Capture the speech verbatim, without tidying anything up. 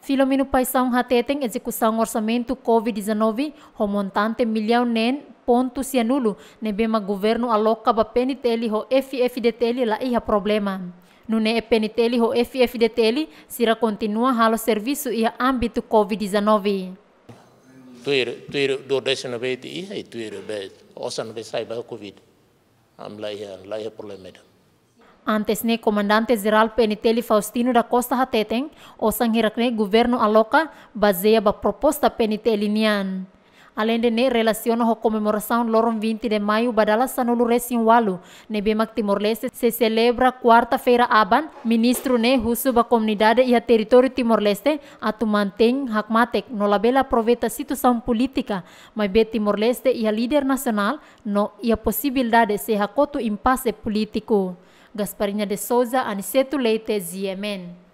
Filomeno Paixão hateten ezekusaun orsamentu COVID-19 ho montante millaun neen pontu sianulu ne'ebé mak governu aloka ba PNTL ho F-FDTL la iha problema. Nune'e PNTL ho F-FDTL sira kontinua halo servisu iha ámbitu COVID-19. Tuir, tuir duodécimo vez iha, i tuir be, osan be sai ba COVID. Ami la iha, la iha problema ida. Antes ne'e, Komandante Jerál PNTL Faustino da Costa hateten, osan hirak ne'e governu aloka bazeia ba proposta PNTL nian. Aleinde ne'e, relasiona ho komemorasaun loron vinte de Maio ba dala sanulu-resin-ualu ne'ebé mak Timor-Leste sei selebra kuarta-feira aban, ministru ne'e husu ba komunidade iha territóriu Timor-Leste atu mantein hakmatek no labele aproveita situasaun polítika, maibé Timor-Leste iha líder nasionál no iha posibilidade sei hakotu impase polítiku. Gasparinha de Souza, Aniceto Leite, G M N.